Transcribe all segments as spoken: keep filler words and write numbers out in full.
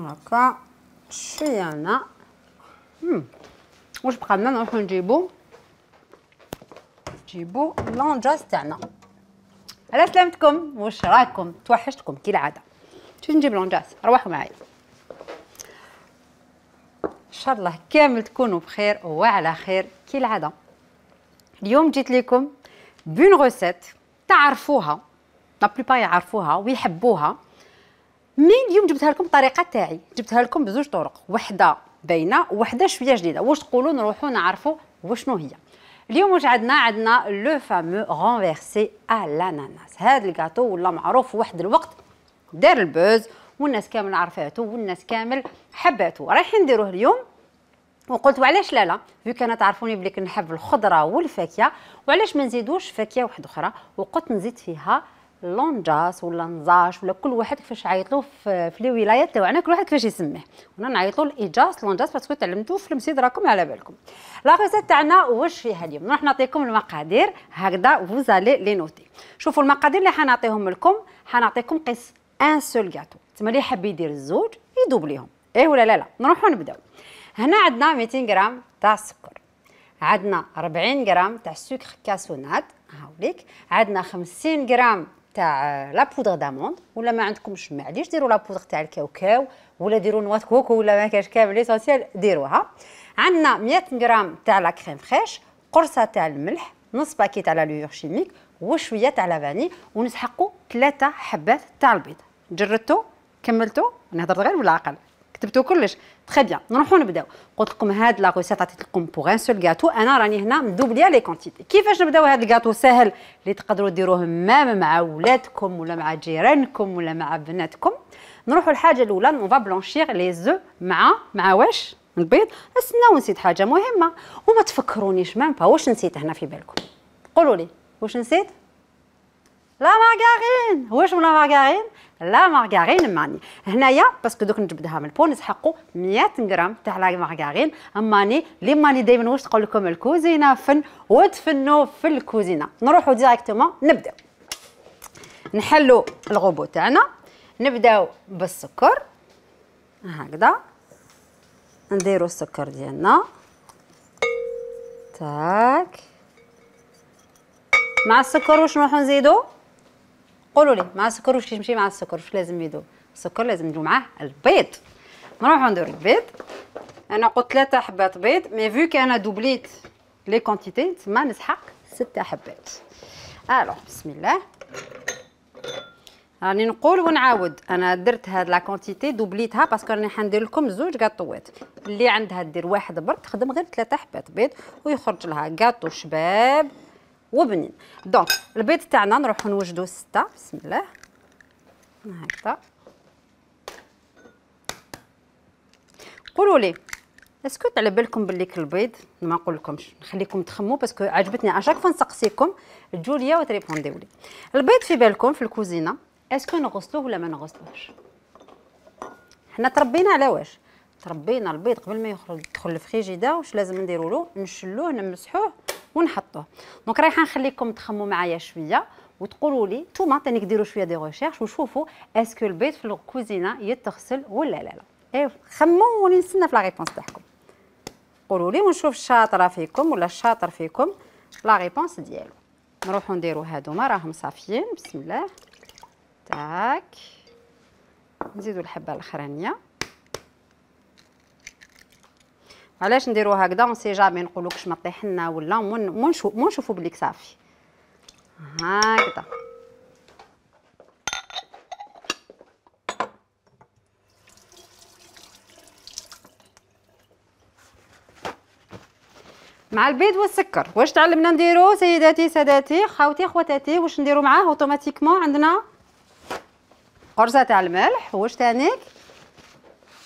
هكا شويه هنا. واش بقى لنا؟ نروحو نجيبو نجيبو لونجاس تاعنا. على سلامتكم، واش راكم؟ توحشتكم كالعاده. شنو نجيب لونجاس؟ روحوا معايا. ان شاء الله كامل تكونوا بخير وعلى خير كالعاده. اليوم جيت لكم بون غوسيت تعرفوها، لا بلوبار يعرفوها ويحبوها، مي اليوم جبتها لكم الطريقه تاعي، جبتها لكم بزوج طرق، وحده باينه وحده شويه جديده. واش تقولوا نروحوا نعرفوا وشنو هي؟ اليوم واش عندنا؟ عندنا لو فامو رونفيرسي ا لاناناس. هذا الكاطو ولا معروف في واحد الوقت دار البوز والناس كامل عرفاته والناس كامل حباته. رايحين نديروه اليوم، وقلت وعلاش لا لا فيك انا تعرفوني بلي كنحب الخضره والفاكهه، وعلاش ما نزيدوش فاكهه واحده اخرى. وقلت نزيد فيها لونجاس ولا نزاش ولا كل واحد كيفاش عيطلو في, في لي ولايات تاعنا، كل واحد كيفاش يسميه. وانا نعيطلو الايجاس لونجاس باسكو تعلمتو في المسيد، راكم على بالكم. لا ريسيت تاعنا واش فيها اليوم؟ نروح نعطيكم المقادير هكذا فوزالي لي نوتي. شوفوا المقادير اللي حنعطيهم لكم، حنعطيكم قيس ان سول كاطو، تما اللي حاب يدير الزوج يدوبليهم، ايه ولا لا لا. نروحوا نبداو. هنا عندنا مئتين غرام تاع السكر، عندنا أربعين غرام تاع السكر كاسونات هاوليك، عندنا خمسين غرام تاع لا بودر داموند، ولا ما عندكمش معليش ديروا لا بودر تاع الكاوكاو ولا ديروا نوا كوكو ولا ما كاش كامل ليسونسيال ديروها. عندنا مئة غرام تاع لا كريم فريش، قرصه تاع الملح، نص باكي تاع لا لوور شيميك، وشويه تاع لافاني، ونسحقوا ثلاثه حبات تاع البيض. جربتوا؟ كملتوا؟ انا هضرت غير بالعقل، كتبتوا كلش تري بيان. نروحوا نبداو. قلت لكم هاد لا ريسيت عطيت لكم بوغ ان سول غاتو، انا راني هنا مدوبليا لي كونتيتي. كيفاش نبداو هاد الكاطو؟ ساهل، اللي تقدروا ديروه مام مع ولادكم ولا مع جيرانكم ولا مع بناتكم. نروحوا الحاجه الاولى، اون فا بلونشير لي زو مع مع واش؟ البيض. استناو، نسيت حاجه مهمه وما تفكرونيش مام با. واش نسيت هنا في بالكم؟ قولوا لي واش نسيت؟ لا مارغارين. واش لا مارغارين؟ لا مارغارين ماني هنايا باسكو دوك نجبدها من البون نسحقوا مئة غرام تاع لا مارغارين. اماني لي ماني دائما واش تقول لكم الكوزينه فن وتفنوا في الكوزينه. نروحوا ديريكتومون نبداو. نحلوا الغوبو تاعنا، نبداو بالسكر هكذا، نديروا السكر ديالنا تاك. مع السكر واش نروحوا نزيدوا؟ قولوا لي مع السكر واش يمشي مع السكر؟ واش لازم يدوب؟ السكر لازم نديرو معاه البيض. نروحو نديرو البيض. انا قلت ثلاثة حبات بيض، مي فيك انا دوبليت لي كونتيتي تما نسحق ستة حبات. الوغ بسم الله، راني نقول ونعاود، انا درت هاد لا كونتيتي دوبليتها باسكو راني حندير لكم زوج كاطوات. اللي عندها دير واحد برك تخدم غير ثلاثة حبات بيض ويخرج لها كاطو شباب وبنين. دونك البيض تاعنا نروحو نوجدو ستة. بسم الله هكذا. قولوا لي اسكو على بالكم بلي البيض، ما نقول لكمش نخليكم تخموا باسكو عجبتني اشاك فوا نسقسيكم جوليا وتريبونديو لي. البيض في بالكم في الكوزينه اسكو نغسلوه ولا ما نغسلوهش؟ حنا تربينا على واش؟ تربينا البيض قبل ما يخرج يدخل الفريجيدا واش لازم نديروا له؟ نشلوه نمسحوه ونحطوه. دونك رايحه نخليكم تخموا معايا شويه وتقولوا لي نتوما تاني ديروا شويه دي ريشيرش وشوفوا اسكو البيض في الكوزينه يتغسل ولا لا لا. ايوا خموا وني نستنى في لا ريبونس تاعكم. قولوا لي ونشوف الشاطره فيكم ولا الشاطر فيكم لا ريبونس ديالو. نروحوا نديروا هادوما راهم صافيين. بسم الله تاك. نزيدوا الحبه الاخرانيه. علاش نديروا هكذا؟ اون سي جامي نقولوكش ما طيح لنا ولا مو نشوفوا بليك صافي هكذا. مع البيض والسكر واش تعلمنا نديرو سيداتي ساداتي خواتي خواتاتي؟ واش نديرو معاه اوتوماتيكمون؟ عندنا قرصه تاع الملح، واش تانيك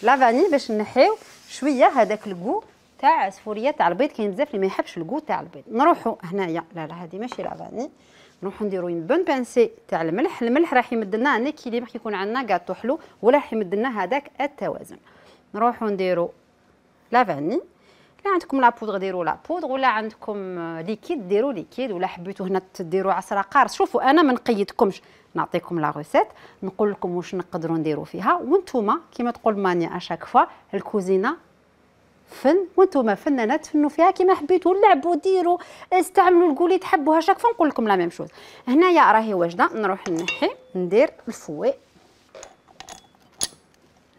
لافاني باش نحيو شويه هذاك الكو تاع عصفوريه تاع البيض. كاين بزاف اللي ما يحبش الكو تاع البيض. نروحوا هنايا لا لا هذه ماشي لافاني، نروحوا نديروا اون بون بانسي تاع الملح. الملح راح يمد لنا ان اكيليبر كي يكون عندنا كاطو حلو، ولا راح يمد لنا هذاك التوازن. نروحوا نديروا لافاني. لا عندكم لا بودغ ديروا لا بودغ، ولا عندكم ليكيد ديروا ليكيد، ولا حبيتوا هنا تديروا عصره قارص. شوفوا انا ما نقيدكمش، نعطيكم لا روسيت نقول لكم واش نقدروا نديروا فيها، وانتم كيما تقول مانيا اشاك فوا الكوزينه فن، وانتم فنانات تفنوا فيها كيما حبيتوا، لعبوا ديروا استعملوا الكولي تحبوها. شاك فوا نقول لكم لا ميم شوز. هنايا راهي واجده، نروح نحي ندير الفوي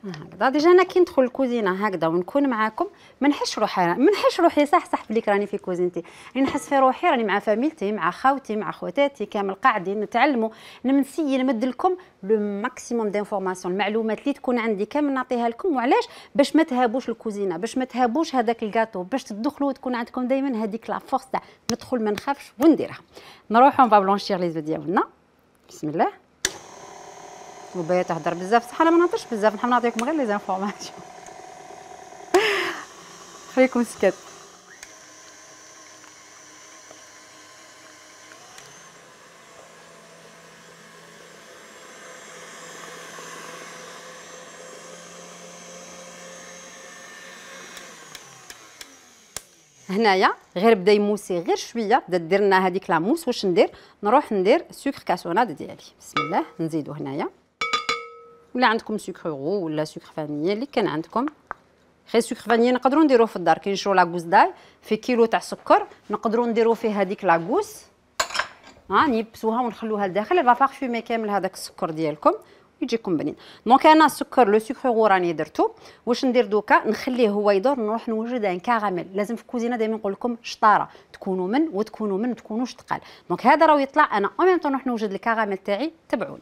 هكذا. ديجا انا كي ندخل الكوزينه هكذا ونكون معاكم ما نحسش روحي، ما نحسش روحي صح صح بليك راني في كوزينتي، راني نحس في روحي راني مع فاميلتي، مع خاوتي، مع خواتاتي كامل قاعدين نتعلموا. نمسي نمد لكم لو ماكسيموم دانفورماسيون، المعلومات اللي تكون عندي كامل نعطيها لكم. وعلاش؟ باش ما تهابوش الكوزينه، باش ما تهابوش هذاك الكاطو، باش تدخلوا وتكون عندكم دائما هذيك لا فورس تاع ندخل ما نخافش ونديرها. نروحوا نبا بلونشير لي زو ديالنا. بسم الله. وبايا تهضر بزاف، صح انا ما نهضرش بزاف، نحب نعطيكم غير لي زانفورماسيون. خليكم سكت. هنايا غير بدا يموسي غير شويه، بدا دير لنا هذيك لا موس. واش ندير؟ نروح ندير سكر كاسوناد ديالي. بسم الله. نزيدو هنايا، ولا عندكم سكر غو ولا سكر فانيي اللي كان عندكم. غير سكر فانيي نقدروا نديروه في الدار، كي نشرو لاكوس داي في كيلو تاع سكر نقدروا نديروا فيه هذيك لاكوس، ها نيبسوها ونخلوها لداخل، فا بارفومي كامل هذاك السكر ديالكم يجيكم بنين. دونك انا السكر لو سكر غو راني درتو. واش ندير دوكا؟ نخليه هو يدور، نروح نوجد ان كاراميل. لازم في الكوزينه دائما نقول لكم شطاره، تكونوا من وتكونوا من، ما تكونوش ثقال. دونك هذا راه يطلع، انا او ميم طون نروح نوجد الكاراميل تاعي. تبعوني.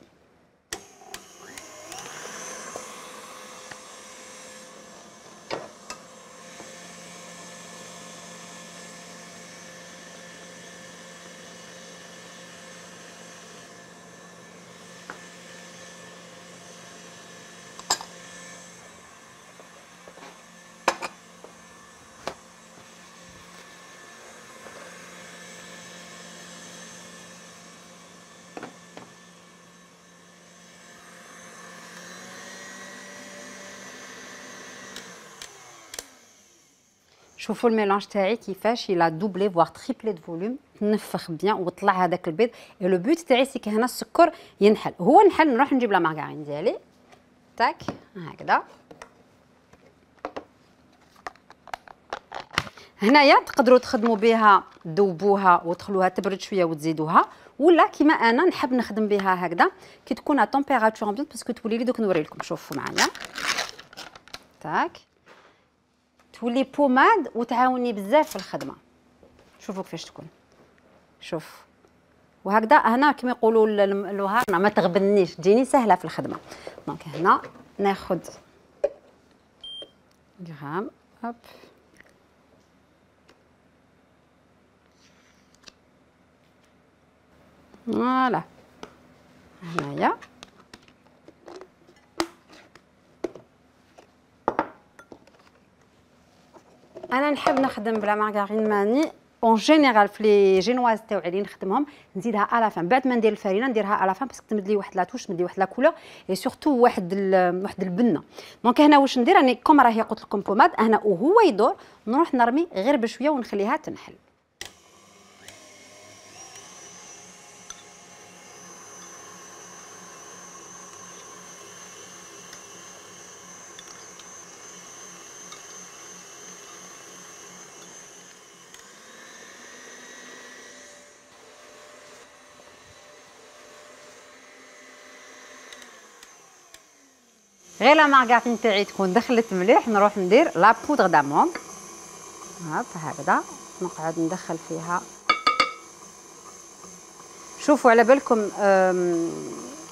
شوفوا الميلانج تاعي كيفاش يلا دوبلي فوار تريبلي دو فوليوم، تنفخ بيان وطلع هذاك البيض. اي لو بوت تاعي سي هنا السكر ينحل، هو نحل نروح نجيب لا مارغرين ديالي تاك هكذا. هنايا تقدروا تخدموا بها تذوبوها وتخلوها تبرد شويه وتزيدوها، ولا كيما انا نحب نخدم بها هكذا كي تكون ا تمبيراتور امبيونت، باسكو تولي لي دوك نوري لكم. شوفوا معايا تاك، تولي بوماد وتعاوني بزاف في الخدمه. شوفوا كيفاش تكون، شوف وهكذا. هنا كما يقولوا اللوهارنا ما تغبنيش، تجيني سهله في الخدمه. دونك هنا ناخذ غرام هوب فوالا. هنايا انا نحب نخدم بلا مارغرين ماني اون جينيرال. في لي جينواز تاوعي اللي نخدمهم نزيدها الا فان، بعد ما ندير الفرينه نديرها الا فان، باسكو تمد لي واحد لا توش، تمد لي واحد لا كولور اي سورتو واحد واحد البنه. دونك هنا واش ندير؟ راني كوم راهي قلت لكم بوماد هنا وهو يدور، نروح نرمي غير بشويه ونخليها تنحل. غير لا مارغرين تاعي تكون دخلت مليح، نروح ندير لا بودغ داموند هاك هكذا، نقعد ندخل فيها. شوفوا على بالكم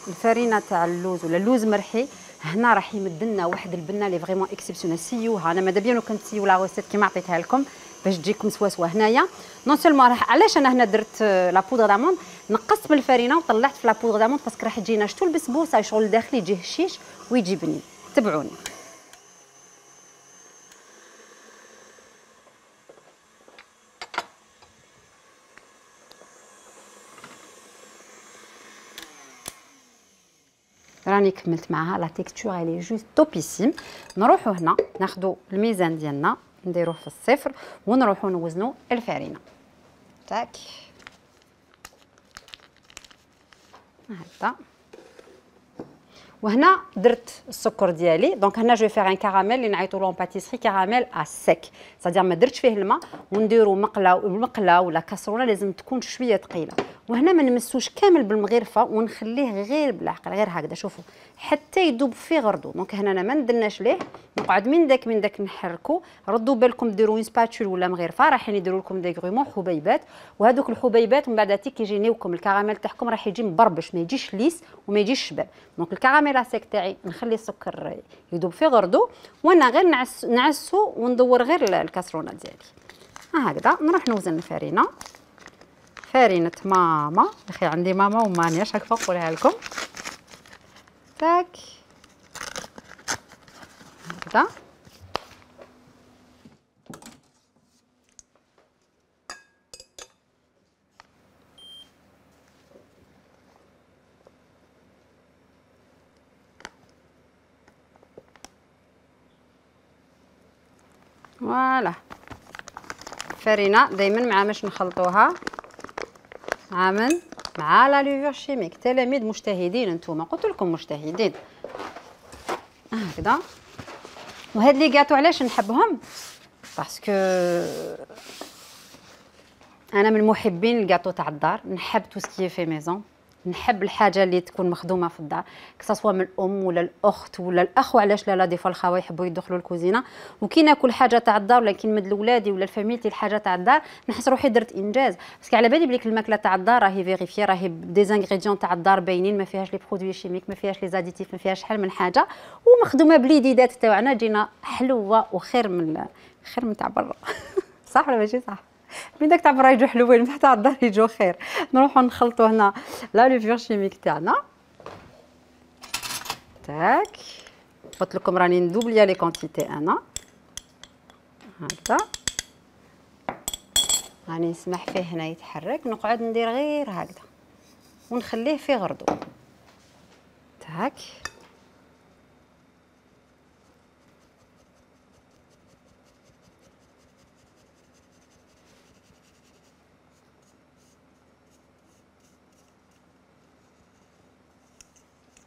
الفرينه تاع اللوز ولا اللوز مرحي هنا راح يمد لنا واحد البنه لي فريمون اكسيبسيونيل. سيوها، انا ماذا بيان لو كنت سيو لا روسيت كيما عطيتها لكم باش تجيكم سواسوا. هنايا نون سولمون راح، علاش انا هنا درت لا بودغ داموند، نقصت من الفرينه وطلعت في لا بودغ داموند باسكو راح تجينا شتو البسبوسه شغل الداخلي يجي هشيش ويجي بنين. تبعوني. راني كملت معها لا تيكستور الي جوست توبيسيم. نروحوا هنا ناخذوا الميزان ديالنا نديروه في الصفر ونروحوا نوزنوا الفرينه تاك هكذا. وهنا درت السكر ديالي، دونك هنا جو فيغ ان كراميل اللي نعيطوا له باتيسري كراميل ا سيك، صادير ما درتش فيه الماء، ونديروا مقله والمقله ولا كاسرونه لازم تكون شويه ثقيله. وهنا ما نمسوش كامل بالمغرفه ونخليه غير بالعقل غير هكذا، شوفوا حتى يذوب فيه غردو. دونك هنا انا ما ندرناش ليه، نقعد من داك من داك نحركو. ردوا بالكم ديروا سباتول ولا مغرفه رايحين يديروا لكم دي غرومون حبيبات، وهذوك الحبيبات من بعد تي كيجينيوكم الكراميل تاعكم راح يجي مبربش، ما يجيش ليس وما يجيش شباب. دونك الكراميل اسيك تاعي نخلي السكر يذوب فيه غردو، وانا غير نعس نعسو وندور غير الكاسرونه ديالي هكذا. نروح نوزن الفرينه، فرينه ماما اخي، عندي ماما ومانياش هكا نقولها لكم تاك هكذا. فوالا الفرينه دائما مع باش نخلطوها مع من مع لا لوفور شيميك. تلاميذ مجتهدين نتوما، قلت لكم مجتهدين هكذا. وهاد لي غاتو علاش نحبهم؟ باسكو انا من محبين الكاطو تاع الدار، نحب تو سكي في ميزون، نحب الحاجه اللي تكون مخدومه في الدار، كسوا من الام ولا الاخت ولا الاخ، وعلاش لا لا دي فوا الخوا يحبوا يدخلوا الكوزينه. وكي ناكل حاجه تاع الدار ولا كي نمد لولادي ولا الفاميلتي الحاجه تاع الدار نحس روحي درت انجاز، باسكو على بالي بليك الماكله تاع الدار راهي فيريفي، راهي دي زانغريديون تاع الدار باينين، ما فيهاش لي برودوي شيميك، ما فيهاش لي زاديتيف، ما فيهاش شحال من حاجه، ومخدومه باليديدات تاعنا تجينا حلوه وخير من خير من تاع برا. صح ولا ماشي صح؟ من داك تاع برا يجوا حلوين، من تاع الدار يجوا خير. نروحوا نخلطوا هنا لا لوفور شيميك تاعنا تاك. قلت لكم راني ندوبليا لي كونتيتي انا هكذا، راني نسمح فيه هنا يتحرك، نقعد ندير غير هكذا ونخليه في غردو تاك.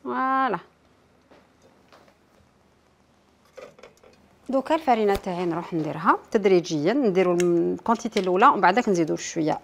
فوالا دوكا الفرينه تاعي نروح نديرها تدريجيا، نديروا الكونتيتي الاولى ومن بعدك نزيدوا شويه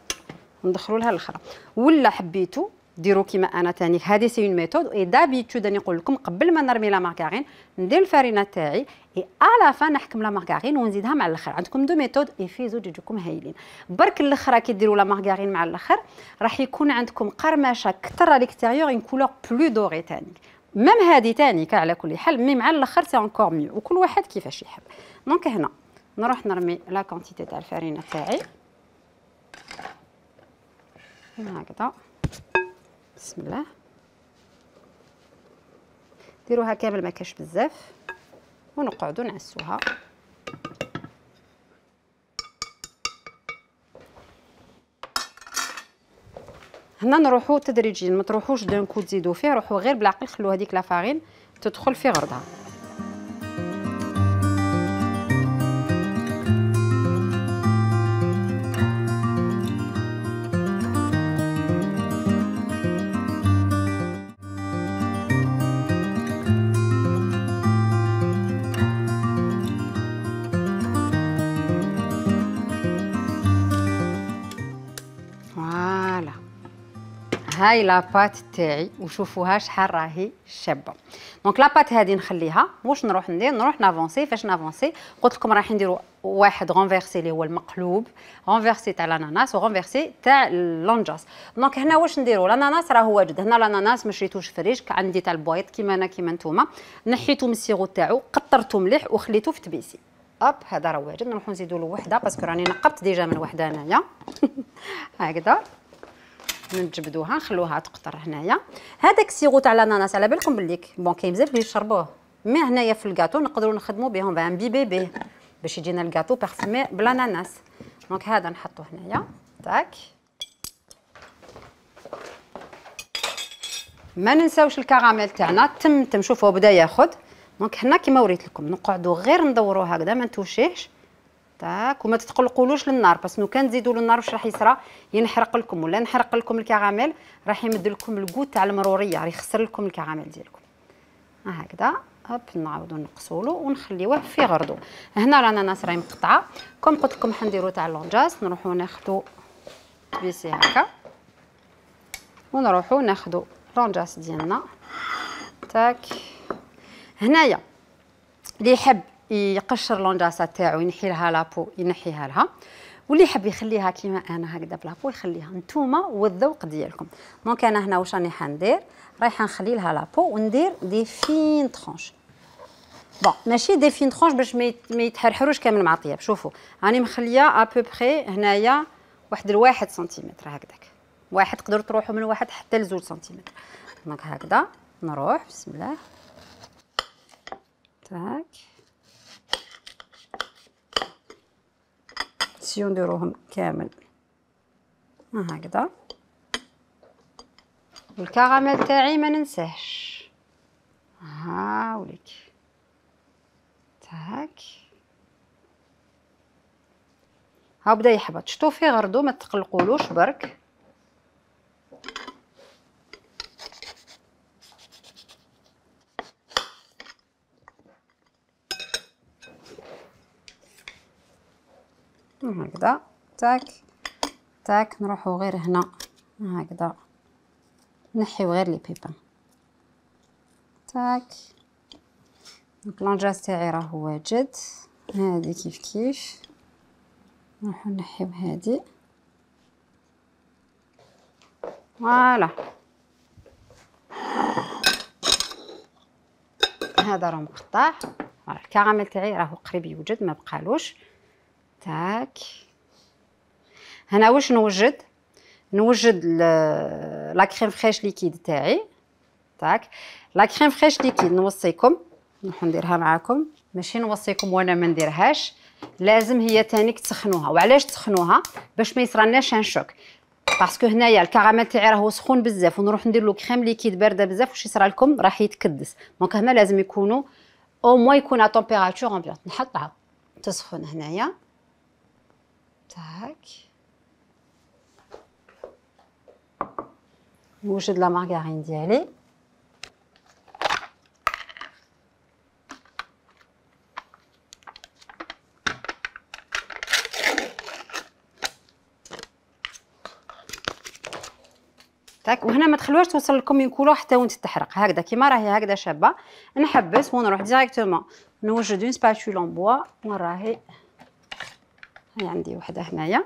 ندخلوا لها الاخرى. ولا حبيتوا ديروا كيما انا تاني، هذه سي اون ميثود اي دابيتود راني نقول لكم قبل ما نرمي لا مارغارين ندير الفرينه تاعي اي الا فا نحكم لا مارغارين ونزيدها مع الاخر. عندكم دو ميثود اي في زوج يجوكم هايلين. برك الاخرى كي ديروا لا مارغارين مع الاخر راح يكون عندكم قرمشه كثر على الاكستيريور، اون كولور بلو دوري تاني. ميم هذه تاني على كل حال، مي مع الاخر سي انكور ميو، وكل واحد كيفاش يحب. دونك هنا نروح نرمي لا كونتيتي تاع الفرينه تاعي هكذا بسم الله. ديروها كامل ما كاش بزاف ونقعدوا نعسوها. هنا نروحوا تدريجيا، ما تروحوش دون كو تزيدوا فيه، روحوا غير بالعقل، خلوا هذيك لا فارين تدخل في غردها. هاي لاباط تاعي وشوفوها شحال راهي شابه. دونك لاباط هذه نخليها، واش نروح ندير؟ نروح نافونسي. فاش نافونسي؟ قلت لكم راح نديروا واحد غونفيرسي اللي هو المقلوب، غونفيرسي تاع الاناناس وغونفيرسي تاع اللونجاس. دونك هنا واش نديروا؟ الاناناس راه واجد، هنا الاناناس ما شريتوش فريش، عندي تاع البويض كيما انا كيما نتوما، نحيتو من السيرو تاعو، قطرته مليح وخليته في تبيسي. اب هذا راه واجد. نروحو نزيدوا له وحده باسكو راني نقبت ديجا من وحده انايا. هكذا نجبدوها نخلوها تقطر هنايا. هذاك السيرو تاع الاناناس على بالكم بليك بون كاين بزاف اللي يشربوه، مي هنايا في الكاطو نقدروا نخدموا بهم بان بيبي بيه باش يجينا الكاطو بارفومي بالاناناس. دونك هذا نحطوه هنايا تاك. ما ننساوش الكراميل تاعنا تم تم شوفوا بدا ياخذ. دونك هنا كيما وريت لكم نقعدوا غير ندوروا هكذا ما نتوشيهش تاك. وما تتقلقولوش للنار، بس لو كان تزيدوا للنار واش راح يصرى؟ ينحرق لكم ولا نحرق لكم الكراميل، راح يمد لكم الكوت تاع المروريه، راح يخسر لكم الكراميل ديالكم. هكذا هوب نعاودو نقصولو ونخليوه في غردو. هنا الاناناس راهي مقطعه، كوم قلت لكم حنديرو تاع لونجاس، نروحو ناخدو بيسي هكا ونروحو ناخدو لونجاس ديالنا تاك. هنايا اللي يحب يقشر لونجاسات تاعو ينحي لها لابو ينحيها لها، واللي يحب يخليها كيما انا هكذا بلابو يخليها، نتوما والذوق ديالكم. دونك انا هنا واش راني حندير، رايحه نخلي لها لابو وندير دي فين طرونش. بون ماشي دي فين طرونش باش ما يتحرحروش كامل مع الطياب. شوفوا راني مخليه ا بو بري هنايا واحد الواحد سنتيمتر هكذاك، واحد تقدروا تروحوا من واحد حتى لزوج سنتيمتر. دونك هكذا نروح بسم الله تاك. سيو نديروهم كامل هكذا. والكراميل تاعي ما ننساهش، ها وليك تاك. ها بدا يحبط، شتو فيه غردو ما تقلقولوش برك. هكذا تاك تاك. نروحو غير هنا هكذا نحيو غير لي بيبان تاك. دونك لونجاس تاعي راه واجد، هادي كيف كيف نروحو نحيو هادي فوالا. هذا راه مقطع، الكراميل تاعي راهو قريب يوجد ما بقالوش تاك. هنا واش نوجد؟ نوجد لا كريم فريش ليكيد تاعي تاك. لا كريم فريش ليكيد نوصيكم نروح نديرها معاكم، ماشي نوصيكم وانا ما نديرهاش، لازم هي تانيك تسخنوها. وعلاش تسخنوها؟ باش ما يصرالناش ان شوك، باسكو هنايا الكراميل تاعي راهو سخون بزاف ونروح ندير له كريم ليكيد بارده بزاف، واش يصرى لكم؟ راح يتكدس. دونك هنا لازم يكونوا او موان يكون ا تمبيراتور امبيونط. نحطها تسخن هنايا تاك. نوجد لا مارغرين ديالي تاك. وهنا ما تخلوهاش توصل لكم ينكولو حتى وانت تحرق، هكذا كيما راهي هكذا شابه. نحبس ونروح ديريكتومون نوجد اون سباتول ان بوا، وراهي هاي عندي وحده هنايا.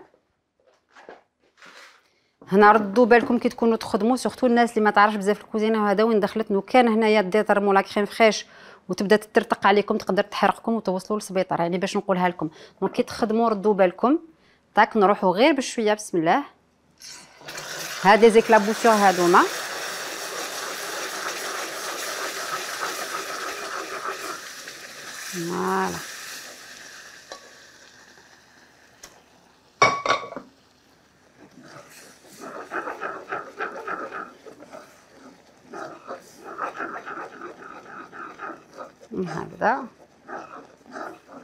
هنا ردوا بالكم كي تكونوا تخدموا، سورتو الناس اللي ما تعرفش بزاف الكوزينه وهذا وين دخلت. لو كان هنايا دي ترموا لا كريم فريش وتبدا تترتق عليكم تقدر تحرقكم وتوصلوا للسبيطار، يعني باش نقولها لكم. دونك كي تخدموا ردوا بالكم تاك. نروحوا غير بشويه بسم الله. هاد لي زيكلابوسيون هادوما فوالا هكذا.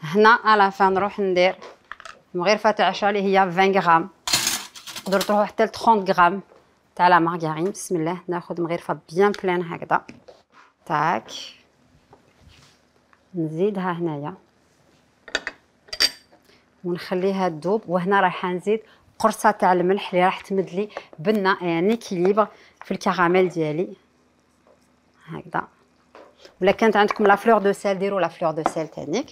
هنا على فان نروح ندير مغرفه تاع عشا اللي هي عشرين غرام، تقدروا تروحوا حتى ل ثلاثين غرام تاع لا مارغرين. بسم الله ناخذ مغرفه بيان بلان هكذا تاك. نزيدها هنايا ونخليها تذوب. وهنا راح نزيد قرصه تاع الملح اللي راح تمد لي بنه يعني كيليبر في الكراميل ديالي هكذا. ولا كانت عندكم لا فلور دو سيل ديروا لا فلور دو سيل تانيك.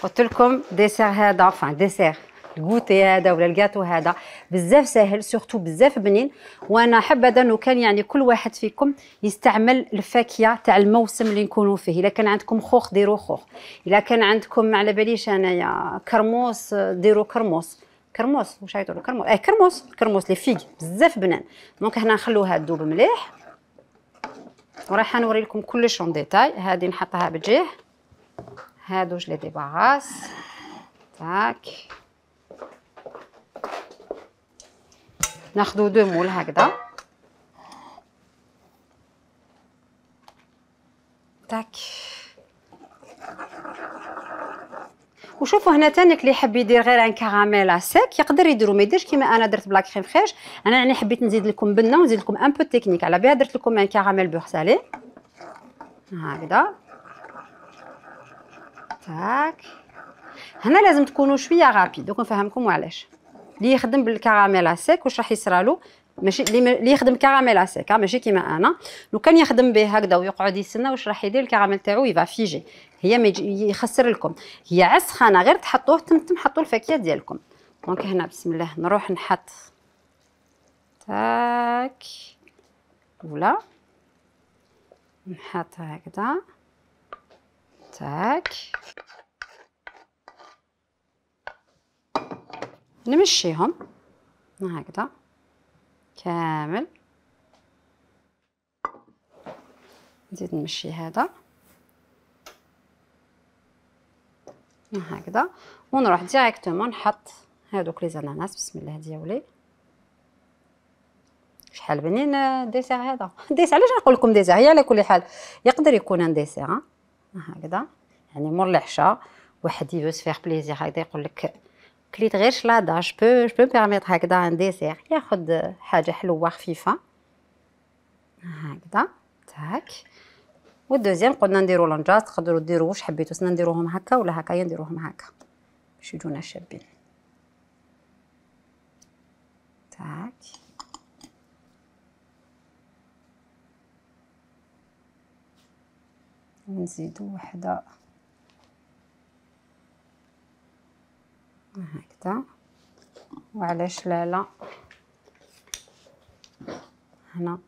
قلت لكم ديسير هذا فان ديسير الكوتي هذا ولا الكاتو هذا بزاف ساهل، سورتو بزاف بنين. وانا حابه انه كان يعني كل واحد فيكم يستعمل الفاكهه تاع الموسم اللي نكونوا فيه. الا كان عندكم خوخ ديروا خوخ، الا كان عندكم ما على باليش انايا كرموس ديروا كرموس. كرموس واش يقولوا كرموس؟ اي كرموس كرموس لي فيغ بزاف بنان. دونك هنا نخلوها تذوب مليح وراح نوري لكم كلش اون ديتاي. هذه نحطها بجيه، هادو جو لي ديباراس تاك. ناخذ دو مول هكذا تاك. وشوفوا هنا تانيك اللي يحب يدير غير ان كراميل سيك يقدر يديرو، ما يديرش كيما انا درت بلا كريم فريش. انا يعني حبيت نزيد لكم بنه ونزيد لكم ان بو تكنيك، على بها درت لكم ان كراميل بور سالي هكذا. تاك. هنا لازم تكونوا شويه غابيد، دوك نفهمكم وعلاش. اللي يخدم بالكراميل سيك واش راح يصرالو، ماشي اللي يخدم كراميل سيك ماشي كيما انا. لو كان يخدم به هكذا ويقعد يستنى واش راح يدير، الكراميل تاعو يفا فيجي، هي ما يخسر لكم، هي عسخانه غير تحطوه تم حطوا الفاكهه ديالكم. دونك هنا بسم الله نروح نحط تاك ولا نحط هكذا تاك، نمشيهم هكذا كامل، نزيد نمشي هذا هكذا، ونروح ديريكتومون نحط هادوك لي زناناس. بسم الله ديالي. شحال بنين الديسير هذا، ديسير علاش نقول لكم ديسير، هي على كل حال يقدر يكون ان ديسير هكذا، يعني مور العشاء واحد يفوس فيغ بليزير هكذا يقول لك كليت غير شلاضه جو بو جو بو بيرميتر هكذا ان ديسير، ياخذ حاجه حلوه خفيفه هكذا تاك. والدوزيام قلنا نديرو لونجاز، تقدروا ديروا واش حبيتو، سنا نديروهم هكا ولا هكايا نديروهم هكا باش يجونا شابين تاك. ونزيدو وحده هكذا، وعلاش لا لا هنا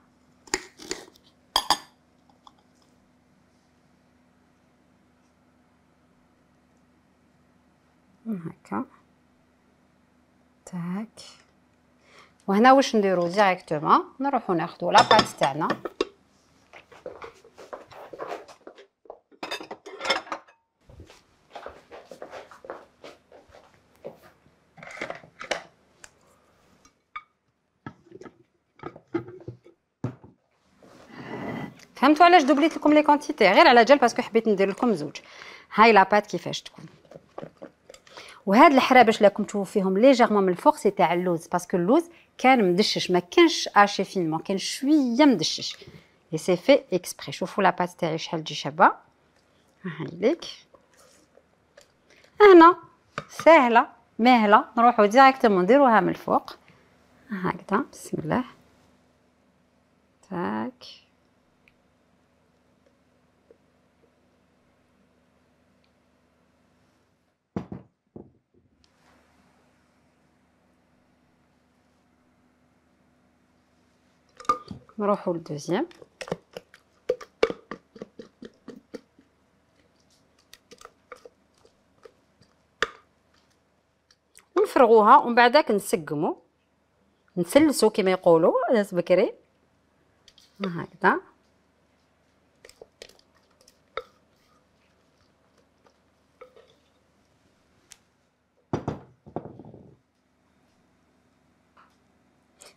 هكا تاك. وهنا واش نديرو ديريكتومون نروحو ناخدو لاباط تاعنا فهمتوا علاش دوبليت لكم لي كونتيتي، غير على جال باسكو حبيت ندير لكم زوج. هاي لاباط كيفاش تكون، وهاد الحرا باش راكم تشوفوا فيهم ليجيرمون من الفوق سي تاع اللوز، باسكو اللوز كان مدشش ما كانش اشي فينمون، كان شويه مدشش اي سي في اكسبري. شوفوا لاباط تاعي شحال تجي شابه، ها ليك هنا ساهله ماهله. نروحوا ديريكتومون نديروها من الفوق هكذا بسم الله تاك. نروحوا للدوزيام ونفرغوها، ومن بعداك نسقمو نسلسو كما يقولوا ناس بكري هكذا.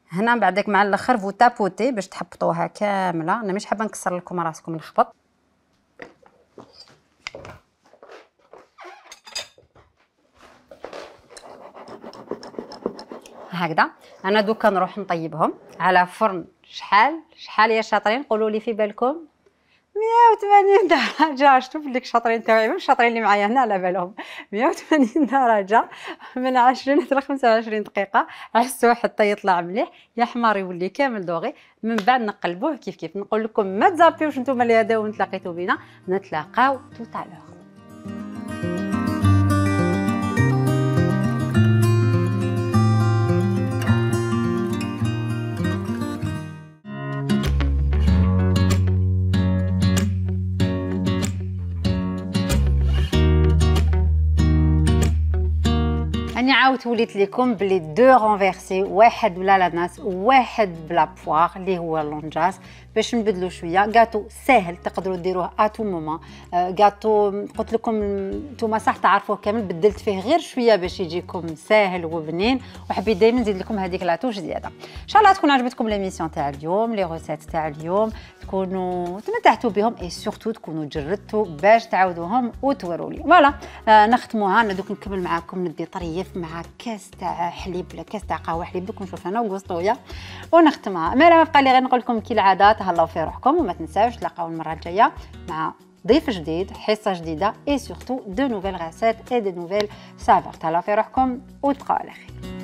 هنا بعدك مع الاخر فو تابوتي باش تحبطوها كامله. انا مش حابه نكسر لكم راسكم نخبط. هكذا انا دوكا نروح نطيبهم على فرن شحال شحال يا شاطرين، قولوا لي في بالكم مية وثمانين درجه. شوف لك شاطرين تاعي مش شاطرين اللي معايا هنا على بالهم. مية وثمانين درجه من عشرين حتى خمسة وعشرين دقيقه، عسوا حتى يطلع مليح يا حمار يولي كامل دوغي. من بعد نقلبوه كيف كيف. نقول لكم ما تزابيوش نتوما اللي هداو نتلاقيتو بينا، نتلاقاو توتالور. عاودت وليت لكم بلي دو رونفيرسي، واحد بلا لاناس وواحد بلا بواغ اللي هو لونجاس، باش نبدلو شويه. غاتو ساهل تقدروا ديروه اتو مومون. غاتو قلت لكم نتوما صح تعرفوه كامل، بدلت فيه غير شويه باش يجيكم ساهل وبنين، وحبيت دائما نزيد لكم هذيك لاطوش زياده. ان شاء الله تكون عجبتكم ليميسيون تاع اليوم، لي روسيت تاع اليوم تكونوا تمتعتوا بهم، اي سورتو تكونوا جربتوا باش تعاودوهم وتوروا لي. فوالا آه نختموها. انا دوك نكمل معاكم ندي طريف مع كاس تاع حليب ولا كاس تاع قهوه حليب، دوك نشوف انا وقسطويه ونختمها. ما لا ما بقى لي غير نقول لكم كالعاده تهلاو في روحكم، وما تنساوش تلاقاو المره الجايه مع ضيف جديد، حصه جديده، اي سورتو دو نوفيل ريسيت اي دو نوفيل سافور. تهلاو في روحكم وتبقاو على خير.